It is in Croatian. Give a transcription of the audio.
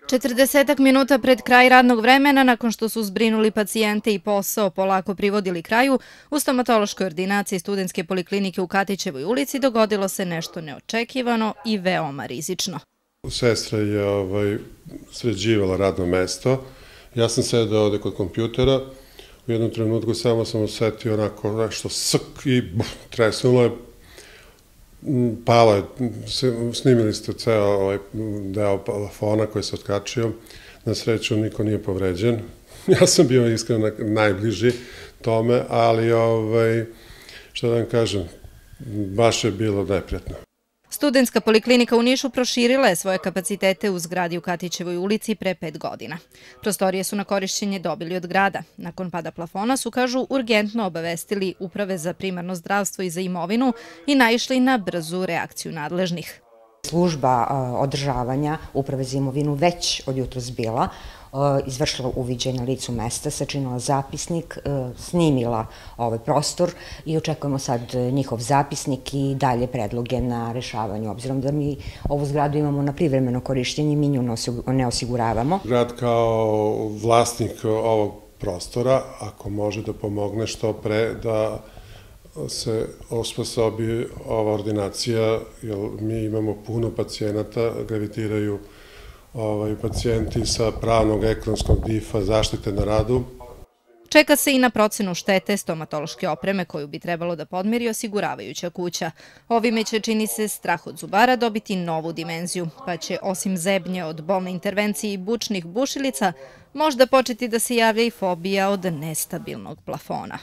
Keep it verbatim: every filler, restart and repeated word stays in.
Četrdesetak minuta pred kraj radnog vremena, nakon što su zbrinuli pacijente i posao polako privodili kraju, u stomatološkoj ordinaciji Studentske poliklinike u Katićevoj ulici dogodilo se nešto neočekivano i veoma rizično. Sestra je ovaj, sređivala radno mesto. Ja sam sedao ovde kod kompjutera. U jednom trenutku samo sam osetio onako nešto sk i buf, tresnulo je. Palo je, snimili ste ceo ovaj deo plafona koji se otkačio. Na sreću niko nije povređen. Ja sam bio iskreno najbliži tome, ali ovaj, što da vam kažem, baš je bilo neprijatno. Studentska poliklinika u Nišu proširila je svoje kapacitete u zgradi u Katićevoj ulici pre pet godina. Prostorije su na korišćenje dobili od grada. Nakon pada plafona su, kažu, urgentno obavestili Uprave za primarno zdravstvo i za imovinu i naišli na brzu reakciju nadležnih. Služba održavanja Uprave za imovinu već od jutros bila, izvršila uviđaj na licu mesta, sačinila zapisnik, snimila ovaj prostor i očekujemo sad njihov zapisnik i dalje predloge na rešavanju. Obzirom da mi ovu zgradu imamo na privremeno korišćenje, mi nju ne osiguravamo. Grad kao vlasnik ovog prostora, ako može da pomogne što pre da se osposobi ova ordinacija, jer mi imamo puno pacijenata, gravitiraju ovaj, pacijenti sa pravnog, ekonomskog difa, zaštite na radu. Čeka se i na procenu štete stomatološke opreme koju bi trebalo da podmiri osiguravajuća kuća. Ovime će, čini se, strah od zubara dobiti novu dimenziju, pa će osim zebnje od bolne intervencije i bučnih bušilica možda početi da se javlja i fobija od nestabilnog plafona.